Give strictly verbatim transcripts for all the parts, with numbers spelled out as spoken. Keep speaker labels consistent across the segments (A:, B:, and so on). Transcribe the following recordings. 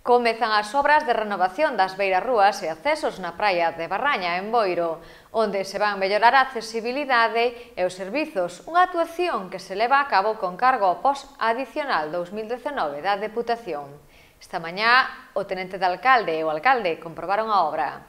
A: Comezan as obras de renovación das beirarrúas e accesos na praia de Barraña, en Boiro, onde se van mellorar a accesibilidade e os servizos, unha actuación que se leva a cabo con cargo ao pos adicional dous mil dezenove da Deputación. Esta mañá, o tenente de alcalde e o alcalde comprobaron a obra.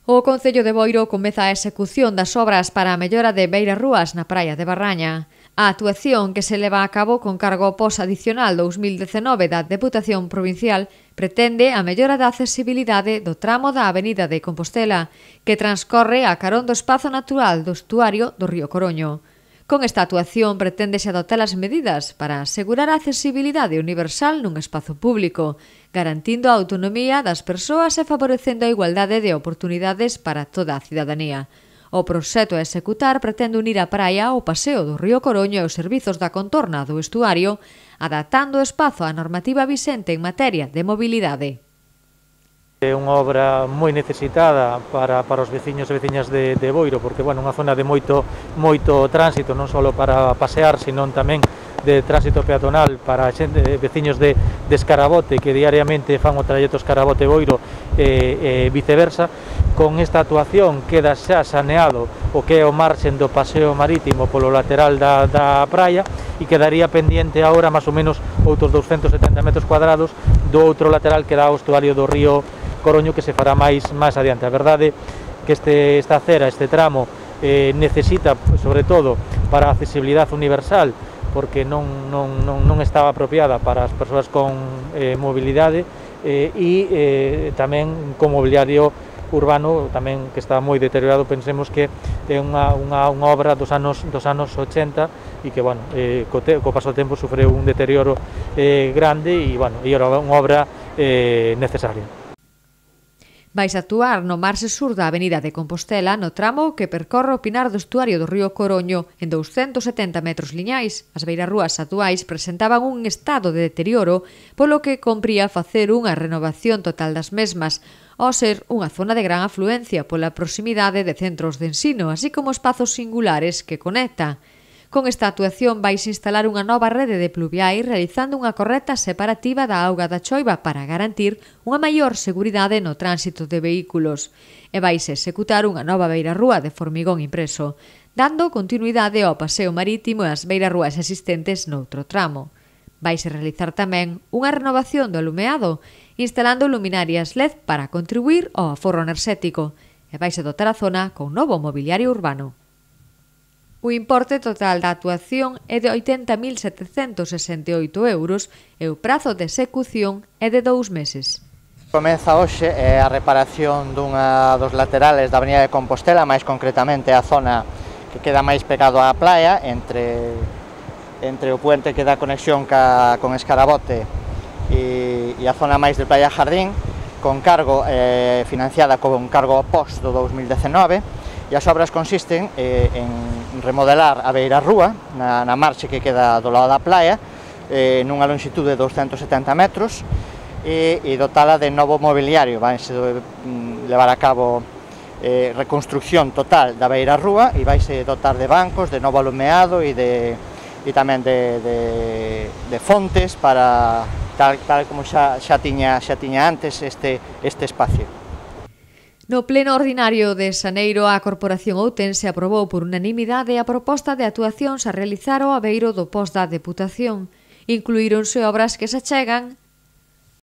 A: O Concello de Boiro comeza a execución das obras para a mellora de beirarrúas na praia de Barraña. A actuación que se leva a cabo con cargo ao pos adicional dous mil dezenove da Deputación Provincial pretende a mellora da accesibilidade do tramo da Avenida de Compostela, que transcorre a carón do espazo natural do estuario do río Coroño. Con esta actuación preténdese adoptar as medidas para asegurar a accesibilidade universal nun espazo público, garantindo a autonomía das persoas e favorecendo a igualdade de oportunidades para toda a cidadanía. O proxecto a executar pretende unir a praia ao paseo do río Coroño e os servizos da contorna do estuario, adaptando o espazo á normativa vixente en materia de mobilidade.
B: É unha obra moi necesitada para, para os veciños e veciñas de, de Boiro, porque bueno, unha zona de moito, moito tránsito, non só para pasear, sino tamén de tránsito peatonal para xente, veciños de, de Escarabote que diariamente fan o trayecto Escarabote-Boiro e, e viceversa. Con esta actuación queda xa saneado o que é o marxen do paseo marítimo polo lateral da, da praia e quedaría pendiente agora máis ou menos outros doscientos setenta metros cuadrados do outro lateral que dá ao estuario do río Coroño, que se fará máis, máis adiante. A verdade que este, esta acera, este tramo eh, necesita, sobre todo, para a accesibilidade universal, porque non, non, non, non estaba apropiada para as persoas con eh, mobilidade eh, e eh, tamén con mobiliario urbano tamén que está moi deteriorado. Pensemos que é unha, unha, unha obra dos anos, dos anos ochenta e que, bueno, eh, co, te, co paso do tempo sufreu un deterioro eh, grande e, bueno, e era unha obra eh, necesaria.
A: Vais actuar no marxe sur da Avenida de Compostela no tramo que percorre o pinar do estuario do río Coroño en douscentos setenta metros liñais. As beirarrúas actuais presentaban un estado de deterioro, polo que compría facer unha renovación total das mesmas, ao ser unha zona de gran afluencia pola proximidade de centros de ensino, así como espazos singulares que conecta. Con esta actuación vais instalar unha nova rede de pluviais realizando unha correcta separativa da auga da choiva para garantir unha maior seguridade no tránsito de vehículos. E vais executar unha nova beirarrúa de formigón impreso, dando continuidade ao paseo marítimo e as beirarrúas existentes noutro tramo. Vais realizar tamén unha renovación do alumeado, instalando luminarias L E D para contribuir ao aforro enerxético, e vais dotar a zona con novo mobiliario urbano. O importe total da actuación é de oitenta mil setecentos sesenta e oito euros e o prazo de execución é de dous meses.
C: Comeza hoxe a reparación dunha dos laterales da Avenida de Compostela, máis concretamente a zona que queda máis pegado á praia, entre, entre o puente que dá conexión ca, con Escarabote e, e a zona máis de Praia Jardín, con cargo eh, financiada con cargo ao pos do dous mil dezenove. E as obras consisten eh, en remodelar a beirarrúa na, na marxe que queda do lado da praia, eh, nunha longitude de douscentos setenta metros, e, e dotala de novo mobiliario. Vaise mm, levar a cabo eh, reconstrucción total da beirarrúa e vaise dotar de bancos, de novo alumeado e, de, e tamén de, de, de fontes para tal, tal como xa, xa, tiña, xa tiña antes este, este espacio.
A: No pleno ordinario de Xaneiro, a Corporación Outense aprobou por unanimidade a proposta de actuacións a realizar ao abeiro do pos da Deputación. Incluíronse obras que se achegan